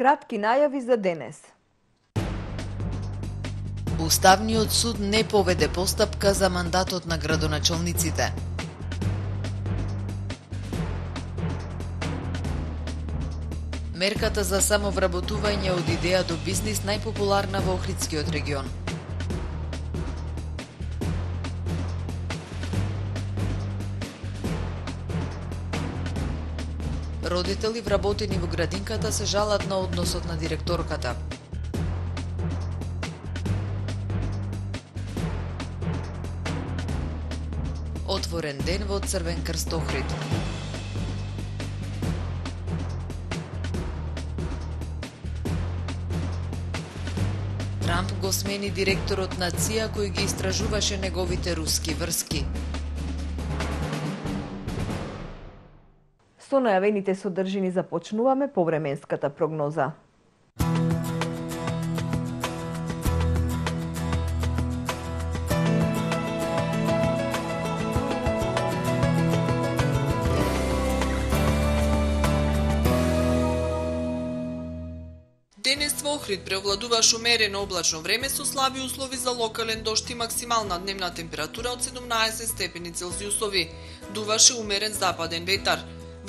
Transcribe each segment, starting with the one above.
Кратки најави за денес. Уставниот суд не поведе постапка за мандатот на градоначалниците. Мерката за самовработување од идеја до бизнис најпопуларна во Охридскиот регион. Родители вработени во градинката се жалат на односот на директорката. Отворен ден во Црвен крст Охрид. Трамп го смени директорот на ЦИА кој ги истражуваше неговите руски врски. Со најавените содржини започнуваме повременската прогноза. Денес во Охрид преовладуваше умерено облачно време со слаби услови за локален дожд и максимална дневна температура од 17 степени Целзиусови. Дуваше умерен западен ветар.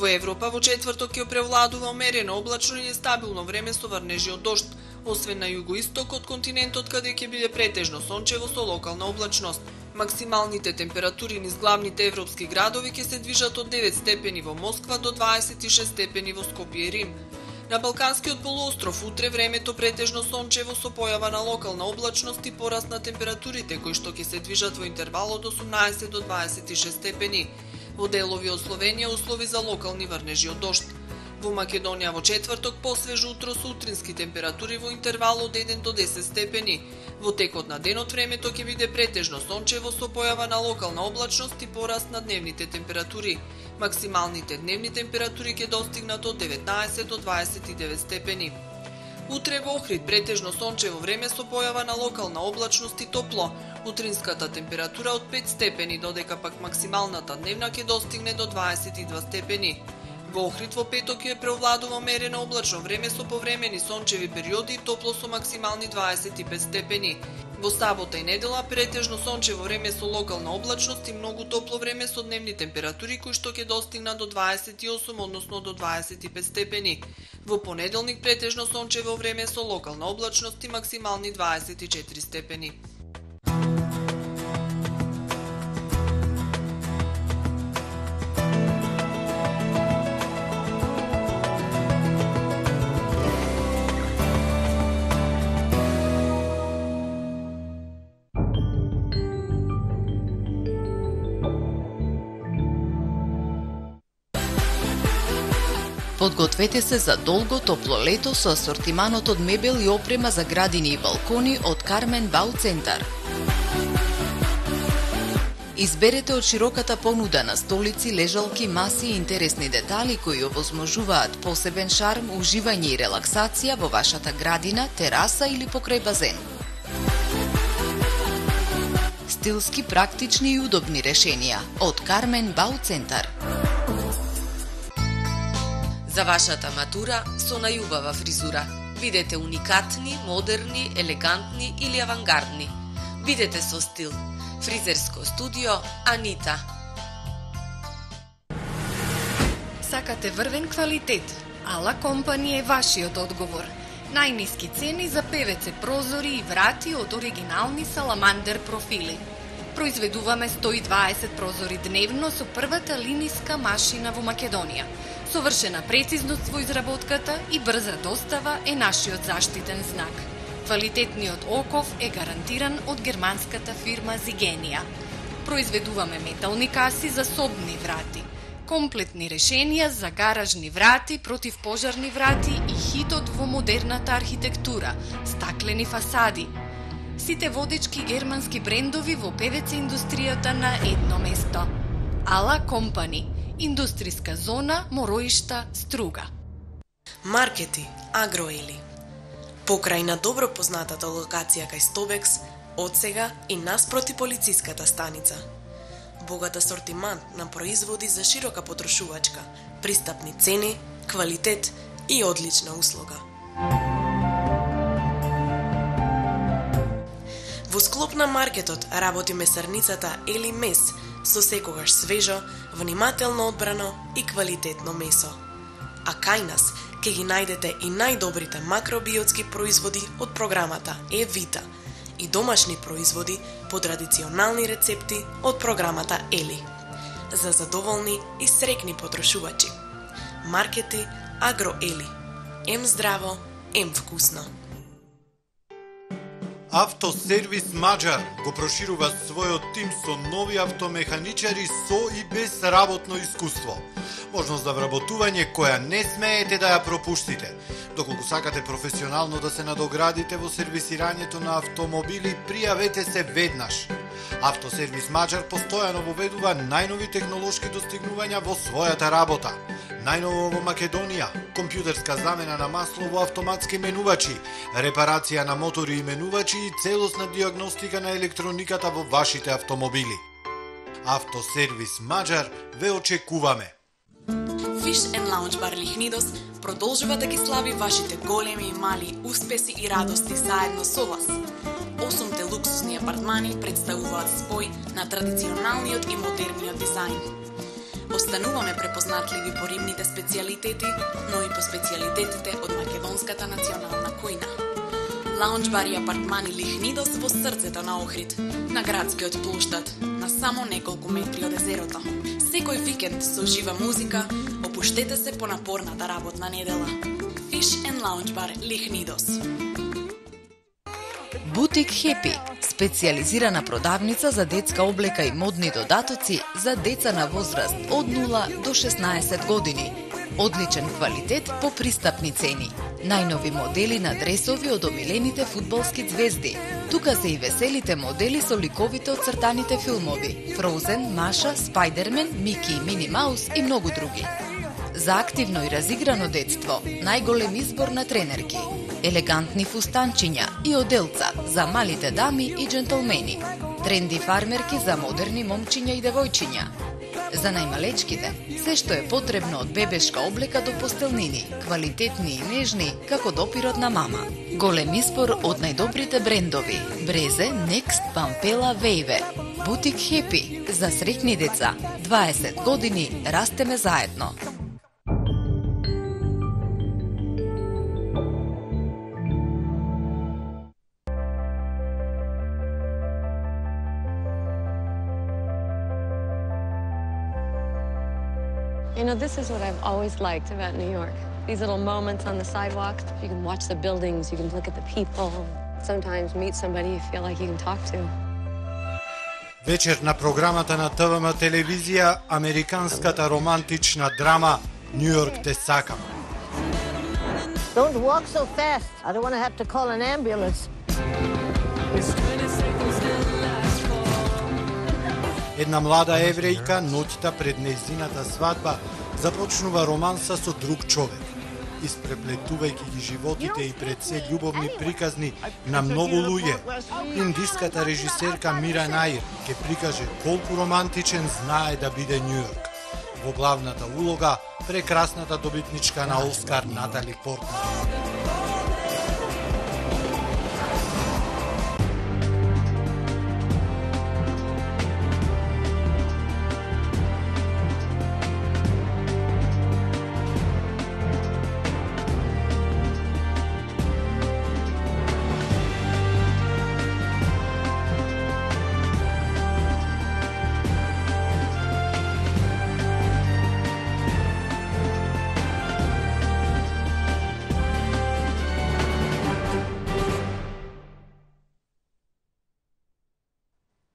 Во Европа во четврток ќе преовладува умерено облачно и нестабилно време со врнежи од дожд, освен на југоисток од континентот каде ќе биде претежно сончево со локална облачност. Максималните температури низ главните европски градови ќе се движат од 9 степени во Москва до 26 степени во Скопје и Рим. На Балканскиот полуостров утре времето претежно сончево со појава на локална облачност и пораст на температурите кои што ќе се движат во интервал од 18 до 26 степени. Во делови од Словенија услови за локални врнежи од дожд. Во Македонија во четврток посвежо утро со утрински температури во интервал од 1 до 10 степени. Во текот на денот времето ќе биде претежно сончево со појава на локална облачност и пораст на дневните температури. Максималните дневни температури ќе достигнат од 19 до 29 степени. Утре во Охрид претежно сончево време со појава на локална облачност и топло. Утринската температура од 5 степени, додека пак максималната дневна ќе достигне до 22 степени. Во Охрид во петок ќе преовладува умерено облачно време со повремени сончеви периоди и топло со максимални 25 степени. Во сабота и недела претежно сончево време со локална облачност и многу топло време со дневни температури кои што ќе достигнат до 28, односно до 25 степени. Во понеделник претежно сончево време со локална облачност и максимални 24 степени. Подгответе се за долго топло лето со асортиманот од мебел и опрема за градини и балкони од Кармен Бау Центар. Изберете од широката понуда на столици, лежалки, маси и интересни детали кои овозможуваат посебен шарм, уживање и релаксација во вашата градина, тераса или покрај базен. Стилски, практични и удобни решенија од Кармен Бау Центар. За вашата матура со најубава фризура. Бидете уникатни, модерни, елегантни или авангардни. Бидете со стил. Фризерско студио Анита. Сакате врвен квалитет? Ала Компани е вашиот одговор. Најниски цени за ПВЦ прозори и врати од оригинални саламандер профили. Произведуваме 120 прозори дневно со првата линиска машина во Македонија. Совршена прецизност во изработката и брза достава е нашиот заштитен знак. Квалитетниот оков е гарантиран од германската фирма Зигенија. Произведуваме метални каси за собни врати, комплетни решенија за гаражни врати, противпожарни врати и хитот во модерната архитектура, стаклени фасади. Сите водечки германски брендови во ПВЦ индустријата на едно место. Ала Компани. Индустријска зона Мороишта, Струга. Маркети, Агроели. Покрај на добро познатата локација кај Стобекс, одсега и наспроти полициската станица. Богат асортимент на производи за широка потрошувачка, пристапни цени, квалитет и одлична услуга. Во склоп на маркетот работи месарницата Ели Мес со секогаш свежо, внимателно одбрано и квалитетно месо. А кај нас ќе ги најдете и најдобрите макробиотски производи од програмата Е-Вита и домашни производи по традиционални рецепти од програмата Ели. За задоволни и срекни потрошувачи. Маркети Агро Ели. Ем здраво, ем вкусно. Автосервис Маđар го проширува својот тим со нови автомеханичари со и без работно искуство. Можност за вработување која не смеете да ја пропуштите. Доколку сакате професионално да се надоградите во сервисирањето на автомобили, пријавете се веднаш. Автосервис Маđар постојано воведува најнови технолошки достигнувања во својата работа. Најново во Македонија, компјутерска замена на масло во автоматски менувачи, репарација на мотори и менувачи и целосна диагностика на електрониката во вашите автомобили. Автосервис Маđар ве очекуваме. Fish and Lounge Bar Лихнидос продолжува да ги слави вашите големи и мали успеси и радости заедно со вас. 8 луксузни апартмани представуваат спој на традиционалниот и модерниот дизајн. Остануваме препознатливи по рибните специјалитети, но и по специјалитетите од македонската национална кујна. Лаунџ бар и апартмани Лихнидос во срцето на Охрид, на градскиот плоштад, на само неколку метри од езерото. Секој викенд со жива музика, опуштете се по напорната работна недела. Fish and Lounge Bar Лихнидос. Бутик Хепи, специјализирана продавница за детска облека и модни додатоци за деца на возраст од 0 до 16 години. Одличен квалитет по пристапни цени. Најнови модели на дресови од омилените фудбалски звезди. Тука се и веселите модели со ликовите од цртаните филмови: Фроузен, Маша, Спајдермен, Мики и Мини Маус и многу други. За активно и разиграно детство, најголем избор на тренерки, елегантни фустанчиња и оделца за малите дами и джентлмени, тренди фармерки за модерни момчиња и девојчиња. За најмалечките, се што е потребно од бебешка облека до постелнини, квалитетни и нежни, како допирот на мама. Голем избор од најдобрите брендови: Брезе, Next, Пампела, Вејве. Бутик Хепи, за среќни деца. 20 години растеме заедно. You know, this is what I've always liked about New York. These little moments on the sidewalk. You can watch the buildings, you can look at the people. Sometimes meet somebody you feel like you can talk to. Вечер на програмата на ТВМ телевизија, американската романтична драма New York те сакам. Don't walk so fast. I don't want to have to call an ambulance. Една млада еврејка ноќта пред нејзината свадба започнува романса со друг човек, испреплетувајќи ги животите и пред се љубовни приказни на многу луѓе. Индиската режисерка Мира Наир ќе прикаже колку романтичен знае да биде Њу Јорк. Во главната улога прекрасната добитничка на Оскар Натали Портман.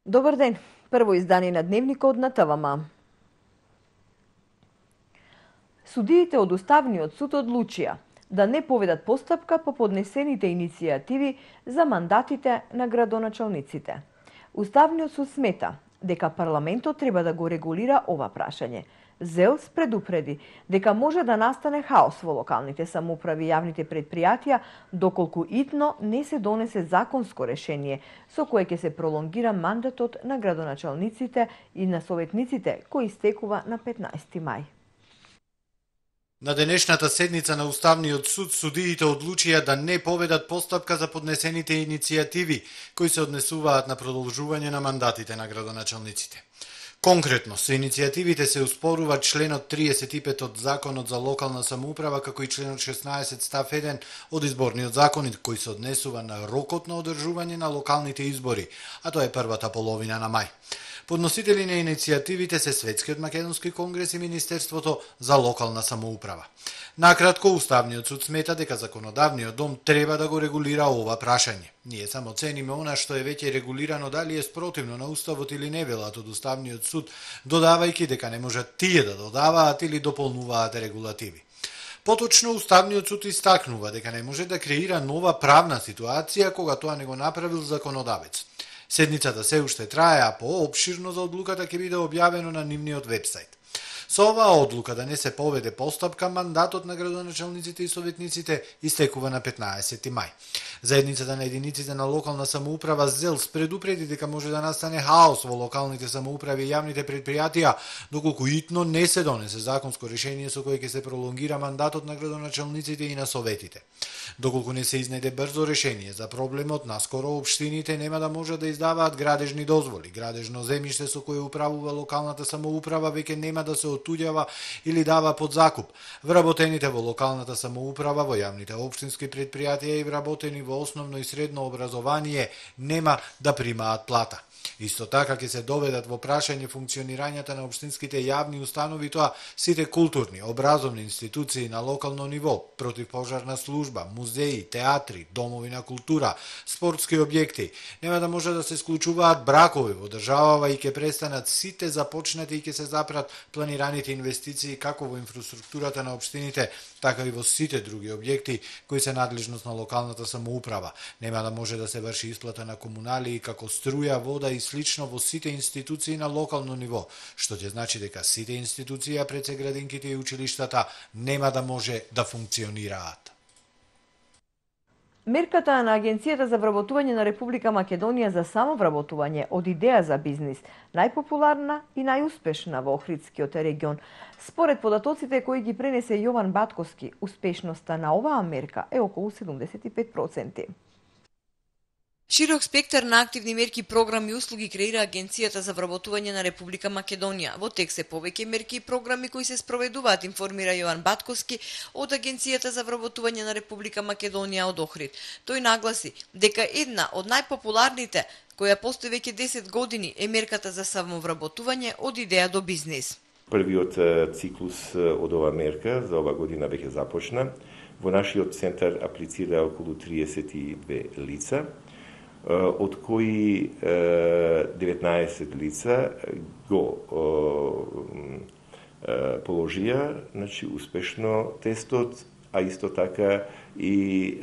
Добар ден. Прво издание на Дневникот на ТВМ. Судиите од Уставниот суд одлучија да не поведат постапка по поднесените иницијативи за мандатите на градоначалниците. Уставниот суд смета дека парламентот треба да го регулира ова прашање. ЗЕЛС предупреди дека може да настане хаос во локалните самоуправи и јавните предпријатија доколку итно не се донесе законско решение со кое ќе се пролонгира мандатот на градоначалниците и на советниците кој истекува на 15 мај. На денешната седница на Уставниот суд судиите одлучија да не поведат постапка за поднесените иницијативи кои се однесуваат на продолжување на мандатите на градоначалниците. Конкретно, со иницијативите се успорува членот 35 од Законот за локална самоуправа, како и членот 16 став 1 од Изборниот закон, кој се однесува на рокот на одржување на локалните избори, а тоа е првата половина на мај. Подносители на иницијативите се Светскиот македонски конгрес и Министерството за локална самоуправа. Накратко, Уставниот суд смета дека законодавниот дом треба да го регулира ова прашање. Ние само цениме она што е веќе регулирано, дали е спротивно на Уставот или не, велат од Уставниот суд, додавајќи дека не можат тие да додаваат или дополнуваат регулативи. Поточно, Уставниот суд истакнува дека не може да креира нова правна ситуација кога тоа не го направил законодавец. Седницата се уште трае, а поопширно за одлуката ќе биде објавено на нивниот вебсайт. Со оваа одлука да не се поведе постапка, мандатот на градоначалниците и советниците истекува на 15 мај. Заедницата на единиците на локална самоуправа ЗЕЛС предупреди дека може да настане хаос во локалните самоуправи и јавните предпријатија, доколку итно не се донесе законско решение со кое ќе се пролонгира мандатот на градоначалниците и на советите. Доколку не се изнајде брзо решение за проблемот, наскоро општините нема да можат да издаваат градежни дозволи. Градежно земјиште со кое управува локалната самоуправа веќе нема да се отуѓава или дава под закуп. Вработените во локалната самоуправа, во јавните општински предпријатија и вработени во основно и средно образование нема да примаат плата. Исто така ќе се доведат во прашање функционирањето на општинските јавни установи, тоа сите културни, образовни институции на локално ниво, противпожарна служба, музеи, театри, домови на култура, спортски објекти. Нема да може да се склучуваат бракови во државава и ќе престанат сите започнати и ќе се запрат планираните инвестиции како во инфраструктурата на општините, така и во сите други објекти кои се надлежност на локалната самоуправа. Нема да може да се врши исплата на комуналии како струја, вода и слично во сите институции на локално ниво, што ќе значи дека сите институции, пред се градинките и училиштата, нема да може да функционираат. Мерката на Агенцијата за вработување на Република Македонија за самовработување од идеја за бизнис, најпопуларна и најуспешна во Охридскиот регион. Според податоците кои ги пренесе Јован Батковски, успешноста на оваа мерка е околу 75%. Широк спектар на активни мерки, програми и услуги креира Агенцијата за вработување на Република Македонија. Во текст се повеќе мерки и програми кои се спроведуваат, информира Јован Батковски од Агенцијата за вработување на Република Македонија од Охрид. Тој нагласи дека една од најпопуларните, која постои веќе 10 години, е мерката за самовработување од идеја до бизнис. Првиот циклус од ова мерка за ова година веќе започна. Во нашиот центар аплицира околу 32 лица, од кои 19 лица го положија, значи, успешно тестот, а исто така и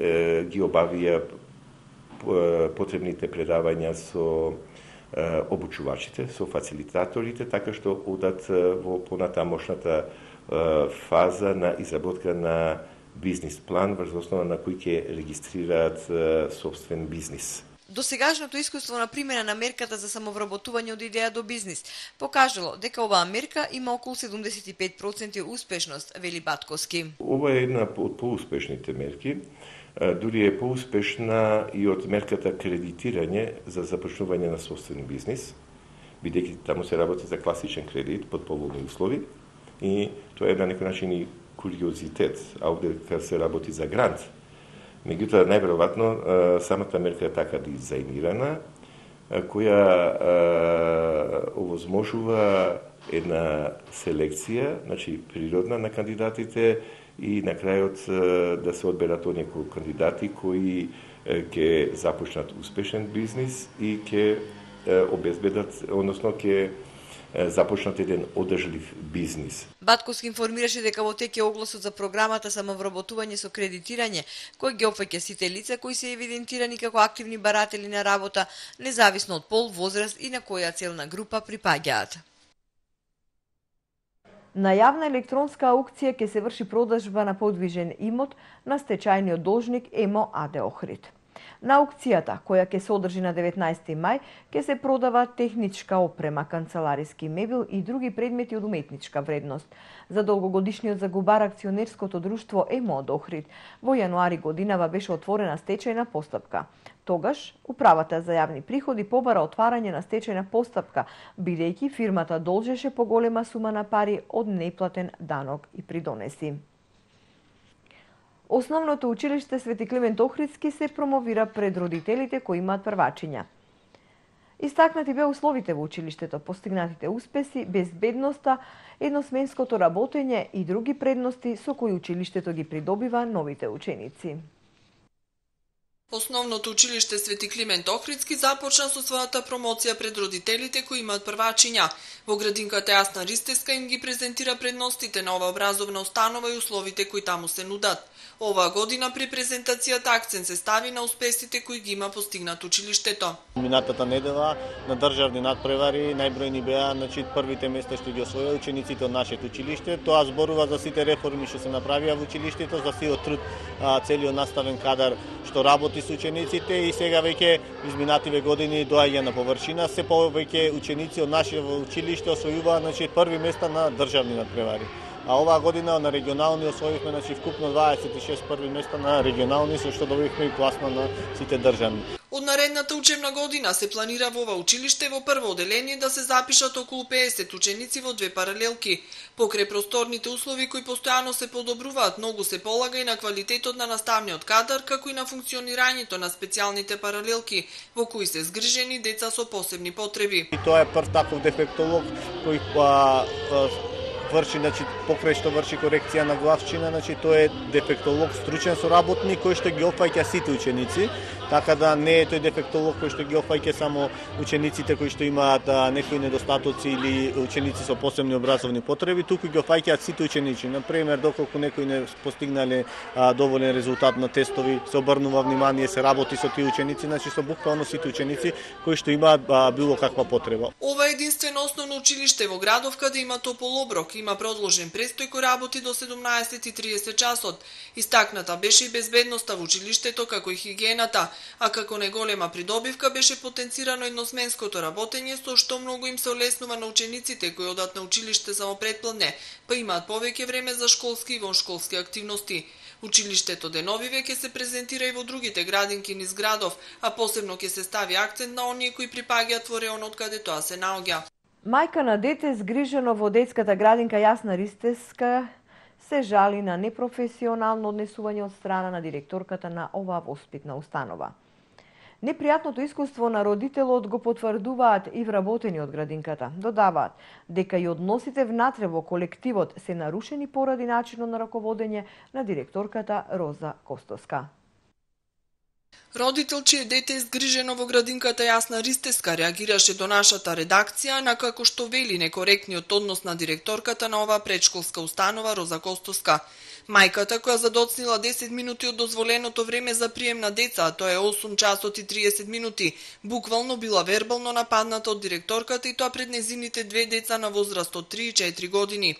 ги обавија потребните предавања со обучувачите, со фацилитаторите, така што одат во понатамошната фаза на изработка на бизнис план врз основа на кој ќе регистрираат собствен бизнис. Досегашното искуство на примена на мерката за самовработување од идеја до бизнис покажало дека оваа мерка има околу 75% успешност, вели Батковски. Ова е една од поуспешните мерки, дури е поуспешна и од мерката кредитирање за започнување на собствен бизнис, бидејќи таму се работи за класичен кредит под поволни услови и тоа е на некој начин и куриозитет, а овде се работи за грант. Меѓутоа, најверојатно, самата мерка е така дизајнирана, која овозможува една селекција, значи природна на кандидатите и на крајот да се одберат оние кандидати кои ќе започнат успешен бизнис и ќе обезбедат, односно ќе започнат еден одржлив бизнис. Батковски информираше дека во тек е огласот за програмата самовработување со кредитирање, кој ги опфаќа сите лица кои се евидентирани како активни баратели на работа, независно од пол, возраст и на која целна група припаѓаат. На јавна електронска аукција ќе се врши продажба на подвижен имот на стечајниот должник ЕМО АД Охрид. На аукцијата, која ќе се одржи на 19 мај, ќе се продава техничка опрема, канцелариски мебел и други предмети од уметничка вредност. За долгогодишниот загубар акционерското друштво ЕМО Охрид во јануари годинава беше отворена стечајна постапка. Тогаш, Управата за јавни приходи побара отварање на стечајна постапка, бидејќи фирмата должеше поголема сума на пари од неплатен данок и придонеси. Основното училиште Свети Климент Охридски се промовира пред родителите кои имаат првачиња. Истакнати беа условите во училиштето, постигнатите успеси, безбедноста, едносменското работење и други предности со кои училиштето ги придобива новите ученици. Основното училиште Свети Климент Охридски започна со својата промоција пред родителите кои имаат првачиња. Во градинката Јасна Ристеска им ги презентира предностите на оваа образовна установа и условите кои таму се нудат. Оваа година при презентацијата акцент се стави на успесите кои ги има постигнат училиштето. Минатата недела на државни надпревари најбројни беа, првите места што ги освоија учениците од нашето училиште. Тоа зборува за сите реформи што се направија во училиштето, за сиот труд, целиот наставен кадар што работи со учениците и сега веќе изминативе години доаѓа на површина. Се повеќе ученици од нашето училиште освојуваат први места на државни надпревари. А оваа година на регионални освоивме вкупно 26 први места на регионални, со што добивме и пласма на сите државни. Од наредната учебна година се планира во ова училиште во прво оделение да се запишат околу 50 ученици во 2 паралелки. Покрај просторните услови кои постојано се подобруваат, многу се полага и на квалитетот на наставниот кадар, како и на функционирањето на специјалните паралелки, во кои се згрижени деца со посебни потреби. И тоа е прв таков дефектолог кој врши, покрај што врши корекција на главчина, тој е дефектолог, стручен соработник кој што ги опфаќа сите ученици, така да не е тој дефектолог кој што ги опфаќа само учениците кои што имаат некои недостатоци или ученици со посебни образовни потреби, туку ги опфаќаат сите ученици. Например, доколку некои не постигнале доволен резултат на тестови, се обрнува внимание, се работи со тие ученици, со буквално сите ученици кои што имаат било каква потреба. Ова е единствено основно училиште во градов каде има топол оброк, има продолжен престој кој работи до 17:30 часот. Истакната беше и безбедноста во училиштето, како и хигиената, а како најголема придобивка беше потенцирано едносменското работење, со што многу им се олеснува на учениците кои одат на училиште само предпладне, па имаат повеќе време за школски и воншколски активности. Училиштето деновиве ќе се презентира и во другите градинки низ градов, а посебно ќе се стави акцент на оние кои припаѓаат во реонот каде тоа се наоѓа. Мајка на дете згрижено во детската градинка Јасна Ристеска се жали на непрофесионално однесување од страна на директорката на оваа воспитна установа. Непријатното искуство на родителот го потврдуваат и вработени од градинката. Додаваат дека и односите внатре во колективот се нарушени поради начинот на раководење на директорката Роза Костоска. Родител чие дете е згрижено во градинката Јасна Ристеска реагираше до нашата редакција на како што вели некоректниот однос на директорката на оваа предшколска установа Роза Костоска. Мајката која задоцнила 10 минути од дозволеното време за прием на деца, а тоа е 8 часот и 30 минути, буквално била вербално нападната од директорката и тоа пред незините 2 деца на возраст од 3 и 4 години.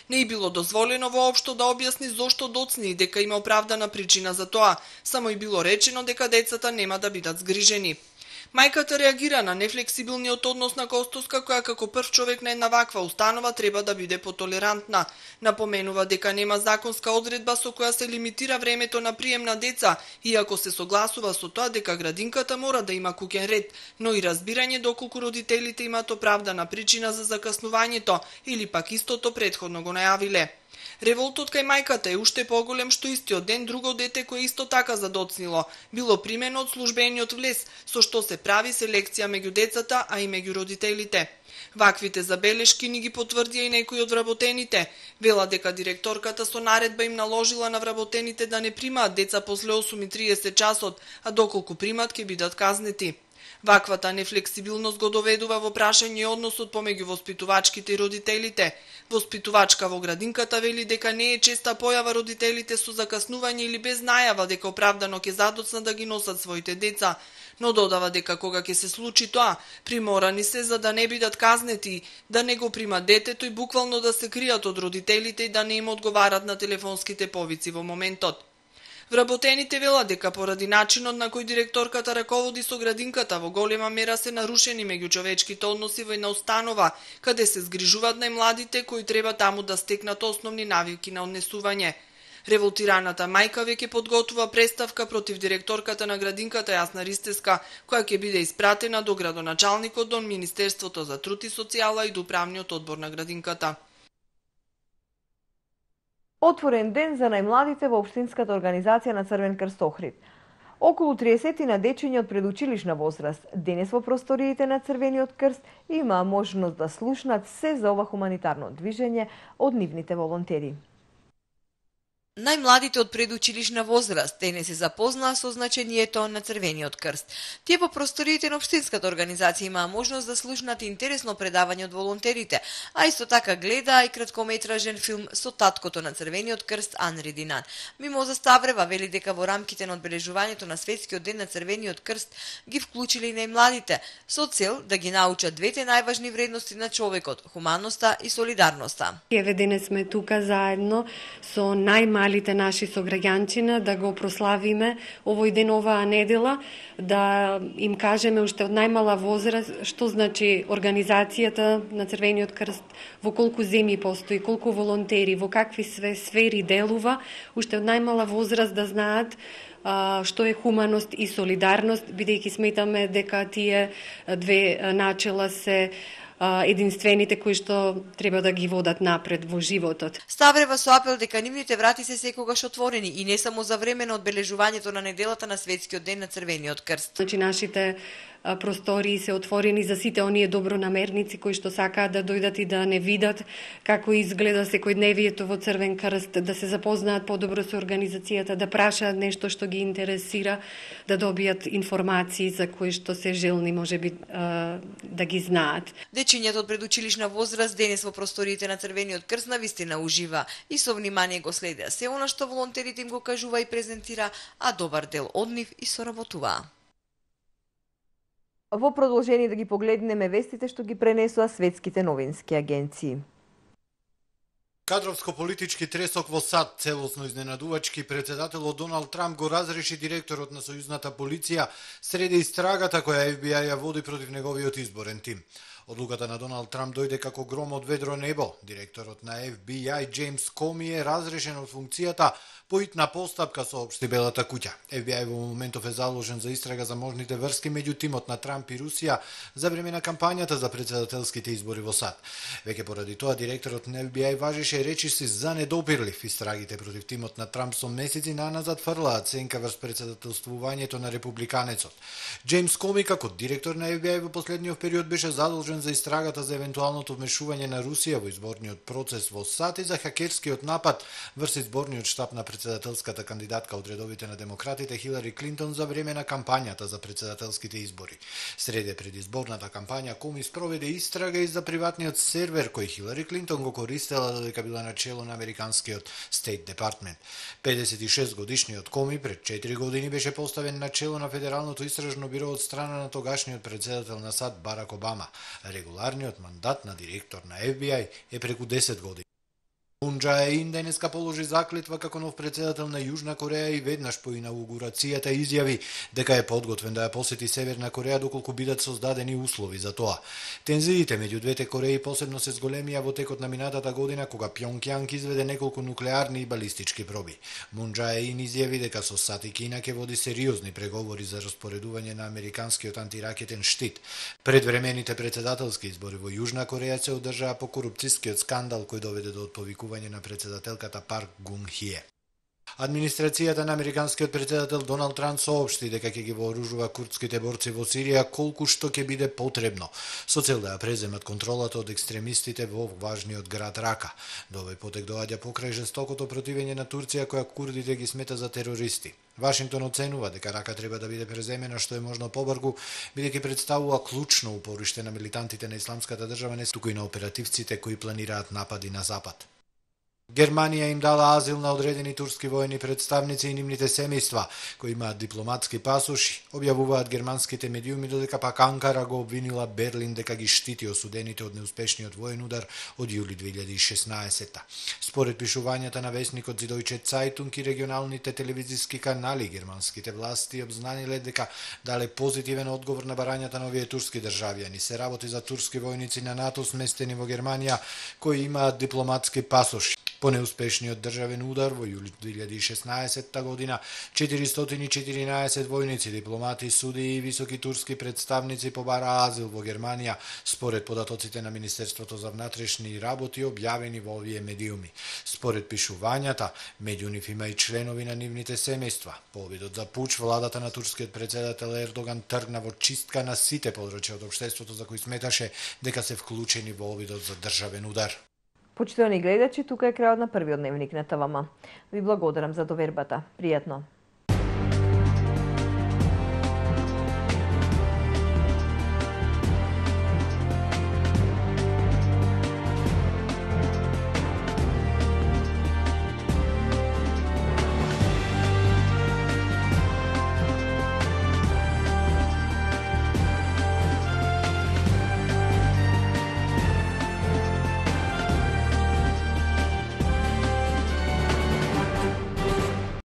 Не е било дозволено воопшто да објасни зошто доцни и дека има оправдана причина за тоа, само и било речено дека децата нема да бидат згрижени. Мајката реагира на нефлексибилниот однос на Костоска, која како прв човек на една ваква установа треба да биде потолерантна. Напоменува дека нема законска одредба со која се лимитира времето на прием на деца, иако се согласува со тоа дека градинката мора да има куќен ред, но и разбирање доколку родителите имаат оправдана причина за закаснувањето или пак истото претходно го најавиле. Револтот кај мајката е уште поголем што истиот ден друго дете кое исто така задоцнило било примено од службениот влез, со што се прави селекција меѓу децата, а и меѓу родителите. Ваквите забелешки ни ги потврдија и некои од вработените. Вела дека директорката со наредба им наложила на вработените да не примаат деца после 8:30 часот, а доколку примат ќе бидат казнети. Ваквата нефлексибилност го доведува во прашање односот помеѓу воспитувачките и родителите. Воспитувачка во градинката вели дека не е честа појава родителите со закаснување или без најава дека оправдано ќе задоцнат да ги носат своите деца, но додава дека кога ќе се случи тоа, приморани се за да не бидат казнети, да не го примат детето и буквално да се кријат од родителите и да не им одговарат на телефонските повици во моментот. Вработените велат дека поради начинот на кој директорката раководи со градинката во голема мера се нарушени меѓучовечките односи во една установа, каде се згрижуваат најмладите кои треба таму да стекнат основни навики на однесување. Револтираната мајка веќе подготвува преставка против директорката на градинката Јасна Ристеска, која ќе биде испратена до градоначалникот, до Министерството за труд и социјала и до управниот одбор на градинката. Отворен ден за најмладите во Општинската организација на Црвен крст Охрид. Околу 30 на дечиња од предучилишна возраст денес во просториите на Црвениот крст има можност да слушнат се за ова хуманитарно движење од нивните волонтери. Најмладите од предучилишна возраст денес се запознаа со значењето на Црвениот крст. Тие во просториите на Општинската организација имаа можност да слушнат интересно предавање од волонтерите, а исто така гледаа и краткометражен филм со таткото на Црвениот крст Анри Динан. Мимоза Ставрева вели дека во рамките на одбележувањето на Светскиот ден на Црвениот крст ги вклучиле и најмладите, со цел да ги научат двете најважни вредности на човекот – хуманноста и солидарноста. Еве денес сме тука заедно со најмалите наши сограѓанчина да го прославиме овој ден, оваа недела, да им кажеме уште од најмала возраст што значи организацијата на Црвениот крст, во колку земји постои, колку волонтери, во какви сфери делува, уште од најмала возраст да знаат што е хуманост и солидарност, бидејќи сметаме дека тие две начела се единствените кои што треба да ги водат напред во животот. Ставрева со апел дека нивните врати се секогаш отворени и не само за време на одбележувањето на неделата на Светскиот ден на Црвениот крст. Значи нашите простории се отворени за сите оние добронамерници кои што сакаат да дојдат и да не видат како изгледа секојдневието во Црвен крст, да се запознаат подобро со организацијата, да прашаат нешто што ги интересира, да добијат информации за кои што се желни можеби да ги знаат. Дечињата од предучилишна возраст денес во просториите на Црвениот крст навистина ужива и со внимание го следеа се она што волонтерите им го кажува и презентира, а добар дел од нив и соработуваа. Во продолжение да ги погледнеме вестите што ги пренесоа светските новински агенции. Кадровско-политички тресок во САД, целосно изненадувачки, председателот Доналд Трамп го разреши директорот на сојузната полиција среде истрагата која FBI ја води против неговиот изборен тим. Одлуката на Доналд Трамп дојде како гром од ведро небо. Директорот на FBI Джеймс Коми е разрешен од функцијата по итна постапка, соопшти Белата куќа. FBI во моментов е заложен за истрага за можните врски меѓу тимот на Трамп и Русија за време на кампањата за председателските избори во САД. Веќе поради тоа директорот на FBI важише речиси за недопирлив. Истрагите против тимот на Трамп со месеци наназад фрлаат сенка врз председателствувањето на републиканецот. Джеймс Коми како директор на FBI во последниот период беше задолжен за истрагата за евентуалното вмешување на Русија во изборниот процес во САД и за хакерскиот напад врз изборниот штаб на председателската кандидатка од редовите на демократите Хилари Клинтон за време на кампањата за председателските избори. Среде предизборната кампања Коми спроведе истрага и за приватниот сервер кој Хилари Клинтон го користела додека била на чело на американскиот Стейт Департмент. 56 годишниот Коми пред 4 години беше поставен на чело на Федералното истражно биро од страна на тогашниот председател на САД Барак Обама. Регуларниот мандат на директор на FBI е преку 10 години. Мун Џаe-ин денеска положи заклетва како нов председател на Јужна Кореја и веднаш по инаугурацијата изјави дека е подготвен да ја посети Северна Кореја доколку бидат создадени услови за тоа. Тензиите меѓу двете Кореи посебно се зголемија во текот на минатата година кога Пјонкјанг изведе неколку нуклеарни и балистички проби. Мун Џаe-ин изјави дека со САД и Кина ќе води сериозни преговори за распоредување на американскиот антиракетен штит. Предвремените председателски избори во Јужна Кореја се одржаа по корупцијскиот скандал кој доведе до отповикување на председателката Парк Гун-хје. Администрацијата на американскиот председател Доналд Трамп соопшти дека ќе ги вооружува курдските борци во Сирија колку што ќе биде потребно, со цел да ја преземат контролата од екстремистите во важниот град Рака. До овој потек доаѓа покрај жестокото противење на Турција која курдите ги смета за терористи. Вашингтон оценува дека Рака треба да биде преземена што е можно побрзо, бидејќи представува клучно упориште на милитантите на Исламската држава, не туку и на оперативците кои планираат напади на Запад. Германија им дала азил на одредени турски воени представници и нивните семејства, кои имаат дипломатски пасоши. Објавуваат германските медиуми, додека пак Анкара го обвинила Берлин дека ги штити осудените од неуспешниот воен удар од јули 2016. Според пишувањата на весникот Süddeutsche Zeitung и регионалните телевизиски канали, германските власти обзнаниле дека дале позитивен одговор на барањата на овие турски државјани. Се работи за турски војници на НАТО сместени во Германија, кои имаат дипломатски пасоши. По неуспешниот државен удар во јули 2016 година, 414 војници, дипломати, судии и високи турски представници побараа азил во Германија, според податоците на Министерството за внатрешни работи објавени во овие медиуми. Според пишувањата, меѓу нив има и членови на нивните семејства. По обидот за пуч, владата на турскиот председател Ердоган тргна во чистка на сите подрачја од општеството за кои сметаше дека се вклучени во обидот за државен удар. Почитувани гледачи, тука е крајот на првиот дневник на ТВМ. Ви благодарам за довербата. Пријатно.